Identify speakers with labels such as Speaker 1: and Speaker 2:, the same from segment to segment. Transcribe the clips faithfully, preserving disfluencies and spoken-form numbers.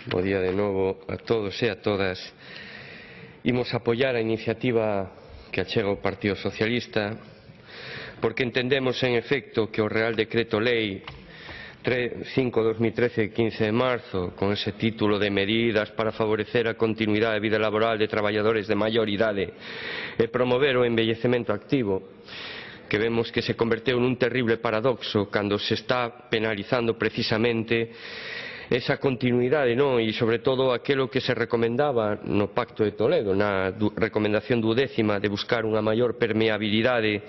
Speaker 1: Bo día de novo a todos e a todas. Imos apoiar a iniciativa que achega o Partido Socialista porque entendemos, en efecto, que o Real Decreto Lei cinco barra dos mil trece de quince de marzo, con ese título de medidas para favorecer a continuidade da vida laboral de traballadores de maior idade e promover o envellecemento activo, que vemos que se converteu nun terrible paradoxo cando se está penalizando precisamente esa continuidade, non? E, sobre todo, aquilo que se recomendaba no Pacto de Toledo, na recomendación duodécima de buscar unha maior permeabilidade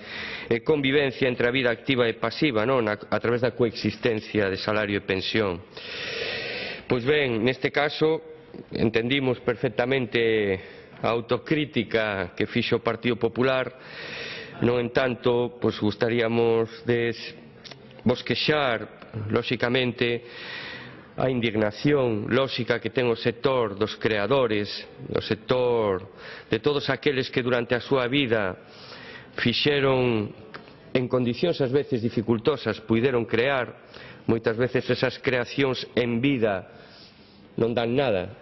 Speaker 1: e convivencia entre a vida activa e pasiva, non? A, a través da coexistencia de salario e pensión. Pois ben, neste caso, entendimos perfectamente a autocrítica que fixo o Partido Popular. No entanto, pois gustaríamos de bosquexar, lóxicamente, a indignación lóxica que ten o sector dos creadores, o sector de todos aqueles que durante a súa vida fixeron en condicións ás veces dificultosas, puideron crear, moitas veces esas creacións en vida non dan nada.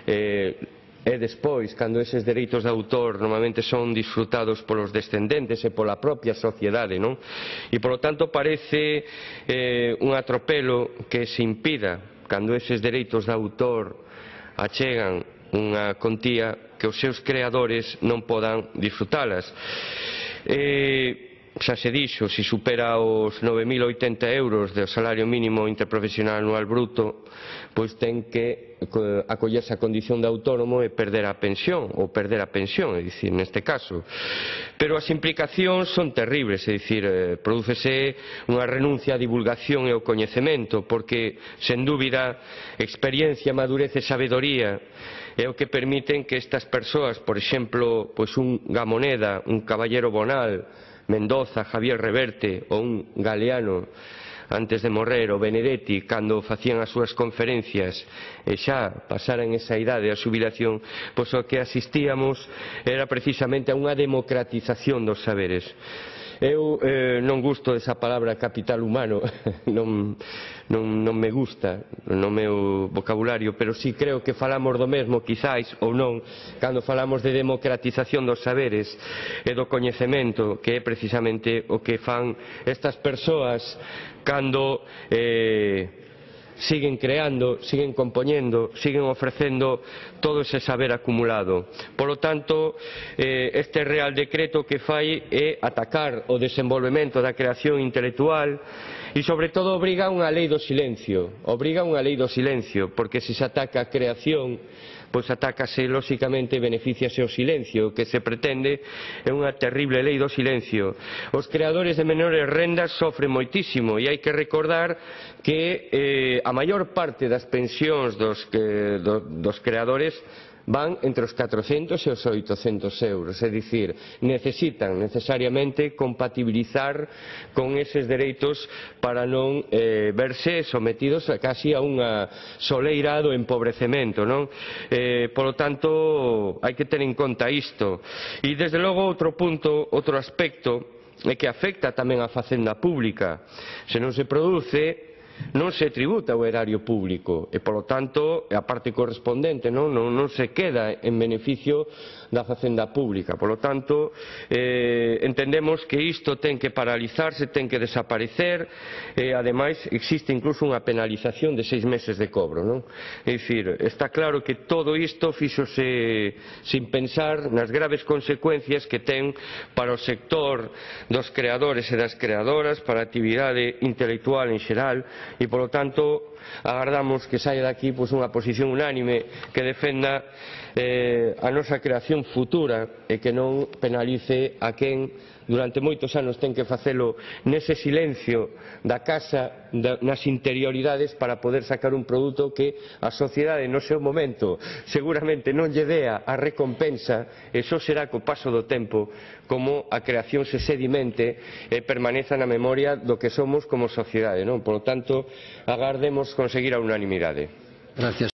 Speaker 1: Eh, E despois, cando eses dereitos de autor normalmente son disfrutados polos descendentes e pola propia sociedade, non? E, polo tanto, parece eh, un atropelo que se impida, cando eses dereitos de autor achegan unha contía, que os seus creadores non podan disfrutalas. Eh, xa se dixo, se supera os nove mil oitenta euros do salario mínimo interprofesional anual bruto, pois ten que acollerse a condición de autónomo e perder a pensión, ou perder a pensión, é dicir, neste caso. Pero as implicacións son terribles, é dicir, eh, prodúcese unha renuncia á divulgación e ao coñecemento, porque, sen dúbida, experiencia, madurez e sabedoría é o que permiten que estas persoas, por exemplo, pois un Gamoneda, un Caballero Bonal, Mendoza, Javier Reverte ou un Galeano antes de morrer, o Benedetti, cando facían as súas conferencias e xa pasaran esa idade a xubilación, pois o que asistíamos era precisamente a unha democratización dos saberes. Eu eh, non gusto desa palabra capital humano, non, non, non me gusta no meu vocabulario, pero sí creo que falamos do mesmo, quizáis, ou non, cando falamos de democratización dos saberes e do coñecemento, que é precisamente o que fan estas persoas cando eh, siguen creando, siguen compoñendo, siguen ofrecendo todo ese saber acumulado. Por lo tanto, eh, este Real Decreto que fai é atacar o desenvolvemento da creación intelectual e, sobre todo, obriga unha lei do silencio. Obriga unha lei do silencio, porque se se ataca a creación, pois atácase, lóxicamente, e beneficiase o silencio. O que se pretende é unha terrible lei do silencio. Os creadores de menores rendas sofren moitísimo e hai que recordar que eh, a maior parte das pensións dos, que, do, dos creadores van entre os catrocentos e os oitocentos euros, é dicir, necesitan necesariamente compatibilizar con eses dereitos para non eh, verse sometidos a casi a unha soleira do empobrecemento, non? Eh, polo tanto, hai que ter en conta isto. E, desde logo, outro punto, outro aspecto, é que afecta tamén a facenda pública. Se non se produce, non se tributa o erario público e, polo tanto, a parte correspondente non, non, non se queda en beneficio da facenda pública. Polo tanto, eh, entendemos que isto ten que paralizarse, ten que desaparecer e, ademais, existe incluso unha penalización de seis meses de cobro, non? É dicir, está claro que todo isto fíxose sin pensar nas graves consecuencias que ten para o sector dos creadores e das creadoras, para a actividade intelectual en xeral, e, polo tanto, agardamos que saia daqui pois, unha posición unánime que defenda eh, a nosa creación futura e que non penalice a quen durante moitos anos ten que facelo nese silencio da casa, da, nas interioridades, para poder sacar un produto que a sociedade no seu momento seguramente non lle dea a recompensa, e só será co paso do tempo como a creación se sedimente e permaneza na memoria do que somos como sociedade, non? Por lo tanto, agardemos conseguir a unanimidade.
Speaker 2: Gracias.